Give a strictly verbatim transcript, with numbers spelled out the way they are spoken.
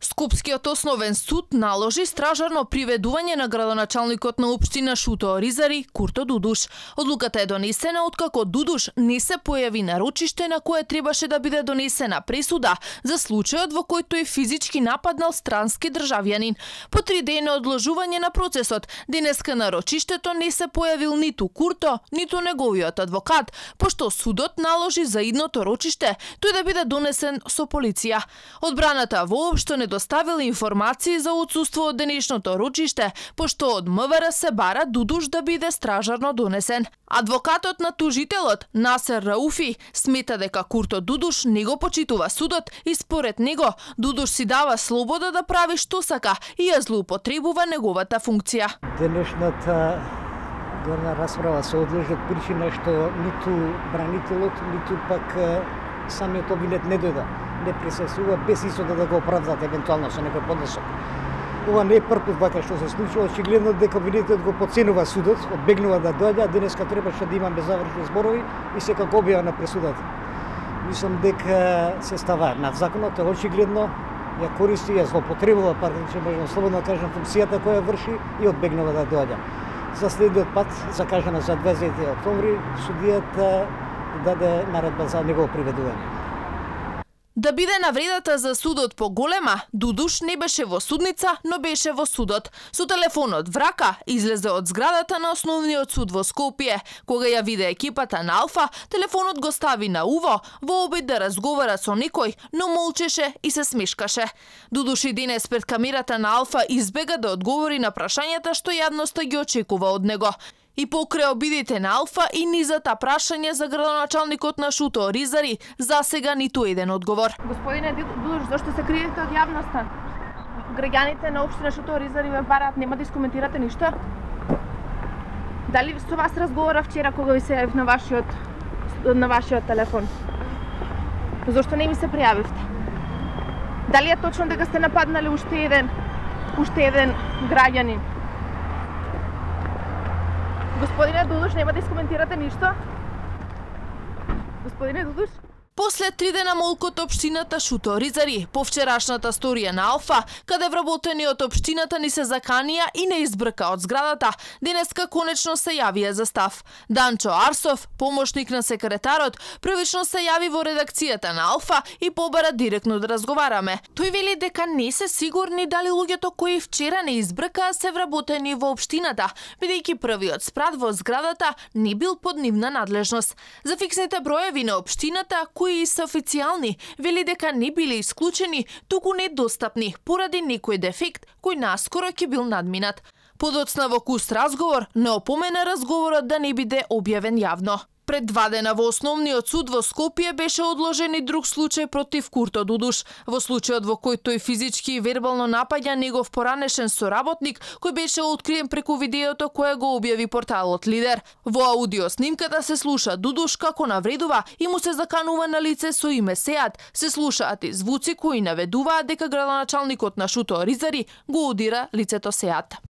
Скопскиот основен суд наложи стражарно приведување на градоначалникот на општина Шуто Оризари Курто Дудуш. Одлуката е донесена откако Дудуш не се појави на рочиште на кое требаше да биде донесена пресуда за случајот во кој тој физички нападнал странски државјанин. По три дена одложување на процесот, денеска на рочиштето не се појавил ниту Курто, ниту неговиот адвокат, пошто судот наложи за идното рочиште тој да биде донесен со полиција. Одбраната воопшто не доставила информации за отсуство од денешното рочиште, пошто од МВР се бара Дудуш да биде стражарно донесен. Адвокатот на тужителот Насер Рауфи смета дека Курто Дудуш не го почитува судот и според него Дудуш си дава слобода да прави што сака и ја злоупотребува неговата функција. Денешната горна расправа се одлежи од причина што ниту бранителот, ниту пак самиот обвинет не дојде, не присуствува без исода да го оправдат евентуално со некој поднесок. Ова не е првпат вака што се случува, очигледно дека обвинетот го подценува судот, одбегнува да доаѓа, а денеска требаше да имаме завршни зборови и секако објава на пресудата. Мислам дека се става над законот, очигледно ја користи, ја злоупотребува, практично можам слободно да кажам, функцијата која врши и одбегнува да доаѓа. За следниот пат, закажано за дваесет октомври, судијата даде наредба за негово приведување. Да биде навредата за судот поголема, Дудуш не беше во судница, но беше во судот. Со телефонот в рака излезе од зградата на основниот суд во Скопје. Кога ја виде екипата на Алфа, телефонот го стави на уво во обид да разговара со никој, но молчеше и се смешкаше. Дудуш и денес пред камерата на Алфа избега да одговори на прашањата што јавноста ги очекува од него. И покрај обидите на Алфа и низата прашање за градоначалникот на Шуто Оризари, засега ниту еден одговор. Господине Дудуш, зошто се криете од јавноста? Граѓаните на општина Шуто Оризари ве бараат, нема да искоментирате ништо? Дали со вас разговора вчера кога ви се јавив на вашиот на вашиот телефон? Зошто не ми се пријавивте? Дали е точно дека сте нападнали уште еден уште еден граѓанин? Господине Дудуш, нема да искоментирате ништо? Господине Дудуш? После три дена молк од општината Шуто Оризари, по вчерашната сторија на Алфа, каде вработени од општината ни се заканија и не избрка од зградата, денеска конечно се јавија за став. Данчо Арсов, помошник на секретарот, првично се јави во редакцијата на Алфа и побара директно да разговараме. Тој вели дека не се сигурни дали луѓето кои вчера не избркаа се вработени во општината, бидејќи првиот спрат во зградата не бил под нивна надлежност. За фиксните броеви на општината, кои и се официјални, вели дека не биле исклучени, туку недостапни, поради некој дефект кој наскоро ќе бил надминат. Подоцна во куст разговор не опомена разговорот да не биде објавен јавно. Пред два дена во основниот суд во Скопје беше одложен и друг случај против Курто Дудуш. Во случајот во кој тој физички и вербално напаѓа негов поранешен соработник, кој беше откриен преку видеото кое го објави порталот Лидер. Во аудио снимката се слуша Дудуш како навредува и му се заканува на лице со име Сеат. Се слушаат и звуци кои наведуваат дека градоначалникот на Шуто Оризари го удира лицето Сеат.